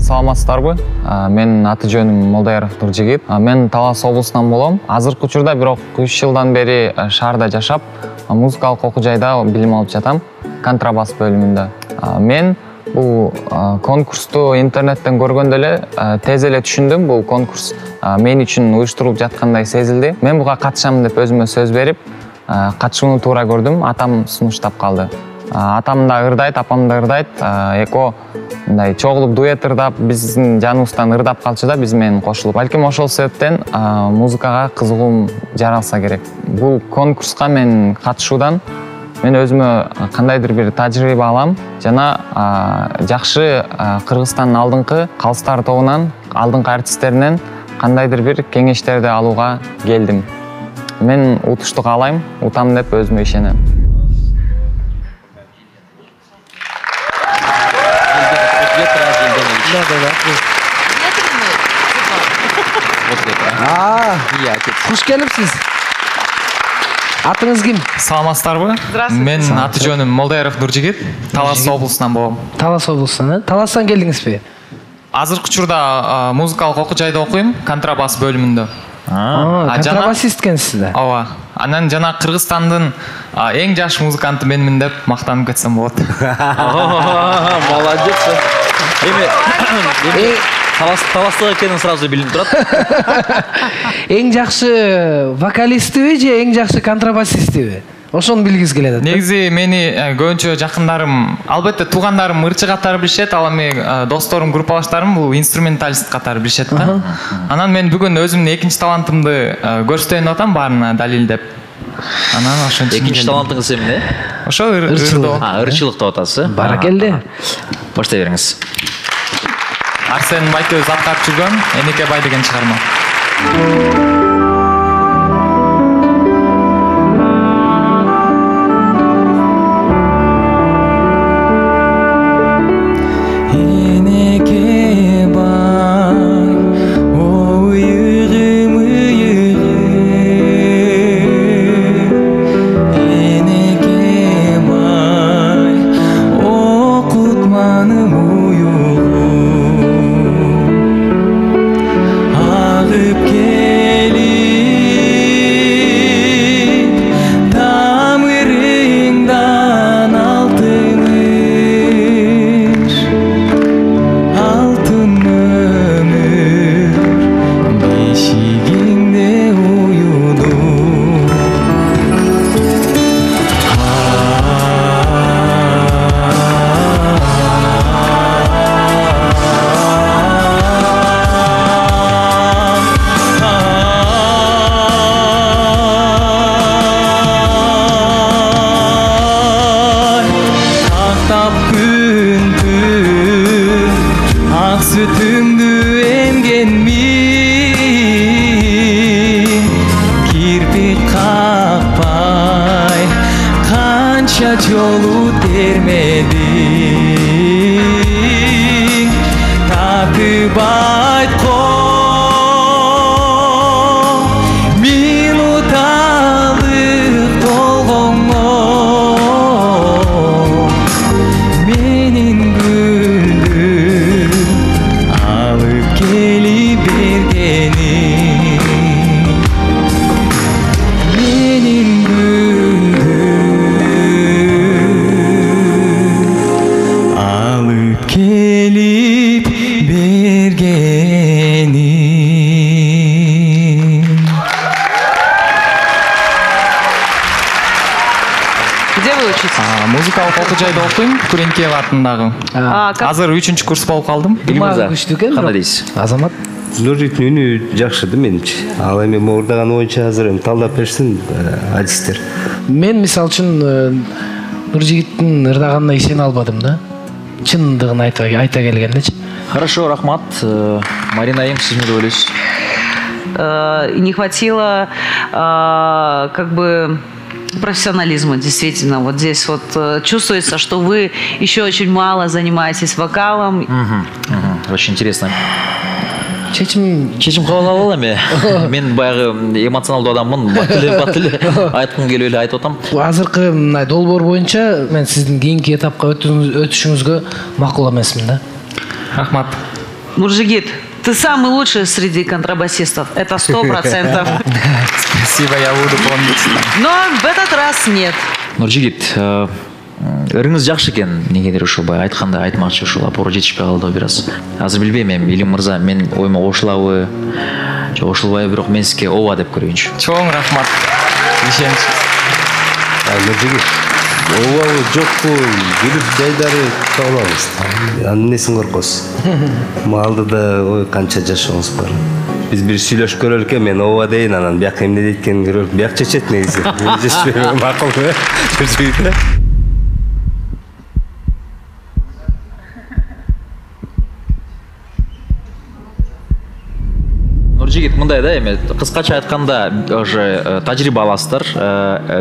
Саламатсыздарбы? Мен аты жөнүм Молдаяров Нуржигит. Мен Талас облусунан болом. Азыркы учурда бирок 3 жылдан бери шаарда жашап, музыкалык окуу жайда билим алып жатам. Контрабас бөлүмүндө. Мен бул конкурсту интернеттен көргөндө эле тез эле түшүндүм. Бул конкурс мен үчүн уюштурулуп жаткандай сезилди. Мен буга катышам деп өзүмө сөз берип, катышууну туура көрдүм. Атам сунуштап калды. Атам да ырдайт, апам да ырдайт. Эко мындай чогулуп дуэт ырдап, биздин жаныбыздан ырдап калчу да биз менен кошулуп. Балким ошол себептен музыкага кызыгуум жаралса керек. Бул конкурска мен катышуудан мен өзүмө кандайдыр бир тажрыйба алам жана жакшы Кыргызстандын алдыңкы калыстар тобунан, алдыңкы артисттеринен кандайдыр бир кеңештерди алууга келдим. Мен утушту каалайм, утам деп өзүмө ишенем. Куш келипсиз. Атыңыз ким? Саламатсыздарбы? Здравствуйте. Мен аты жөнүм Молдаяров Нуржигит. Талас облусунан болом. Талас облусунан, Таластан келдиңизби? Азыркы учурда музыкалык окуу жайда окуйм, контрабас бөлүмүндө. Контрабасист экенсиз да. Ооба. Анан жана Кыргызстандын эң жаш музыканты менмин деп мактанып кетсем болот. Молодец. Таластык экенин сразу билинип турат. Эң жакшы вокалистиби же эң жакшы контрабасистиби? Ошону билгиз келет. Негизи мени көбүнчө жакындарым, албетте туугандарым ырчы катары билишет, ал эми досторум, группалаштарым бул инструменталист катары билишет да. Анан мен бүгүн өзүмдүн экинчи талантымды көрсөтөйүн атам баарына далилдеп. Анан ошон экинчи талантыңыз эмне? Ошо ырчылык. Ырчылык деп атасыз. Баракелде. Баштай бериңиз. Арсен Байтөз аткарып жүргөн Энеке бай деген чыгарма. Жолу термедиң, татып айткон минуталык толгоңо менин гүлдүм алып келип бергениң менин келип бергениң. Где вы учитесь? Музыкалык окуу жайда окуйм, Күренкеев атындагы. Азыр 3-чү курс болуп калдым. Күчтүү экен. Кандай дейсиз? Азамат. Нуржигиттин үнү жакшы да менимче. Ал эми мурдаган боюнча азыр талдап берсин артисттер. Мен мисалы үчүн Нуржигиттин ырдаганына ишене албадым да. Чындыгын айта келгендечи. Хорошо, рахмат. Марина айым, сиз эмне ойлойсуз? Не хватило как бы профессионализма, действительно. Вот здесь вот чувствуется, что вы еще очень мало занимаетесь вокалом. Очень интересно. Чечим кабыл алалы эми. Мен баягы эмоционалдуу адаммын. Батылы айткым келип эле айтып атам. Азыркы мындай долбоор боюнча мен сиздин кийинки этапка өтүшүңүзгө макул эмесмин да. Рахмат. Нуржигит, ты самый лучший среди контрабасистов. Это 100%. Спасибо, я буду помнить. Но в этот раз нет. Нуржигит, ырыңыз жакшы экен, негедир ушул баягы айтканда айтмакчы ушул опора жетишпей калды бир аз. Азыр билбейм эми, Илим мырза, мен оюма кошулабы, же кошулбайбы, бирок мен сизге ооба деп көрөйүнчү. Чоң рахмат. Ишенич. Нуржигит, ообабы жокпу, күлүп жайдары табылабыз. Анын эмнесин коркосуз? Малдыда ой канча жашооңуз бар. Биз бир сүйлөшүп көрөлүк, мен ооба дейин, анан бияка эмне дейт экенин көрөлүк. Бияк чечет негизи. Макулбу? Нуржигит. Нуржигит, мындай да эми кыскача айтканда уже тажрыйба аласыздар,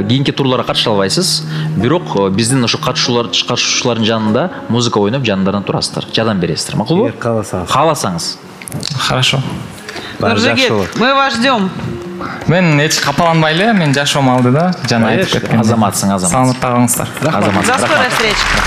кийинки турларга катыша албайсыз, бирок биздин ушу катышуучулардын жанында музыка ойноп жандарынан турасыздар, жардам бересиздер, макулбу? Кааласаңыз. Хорошо. Нуржигит, мы вас ждем. Мен эч капаланбай эле, мен жашоом алды да, жана айтып кеткен. Азаматсың, азамат. Саламатта калыңыздар. До скорой встречи.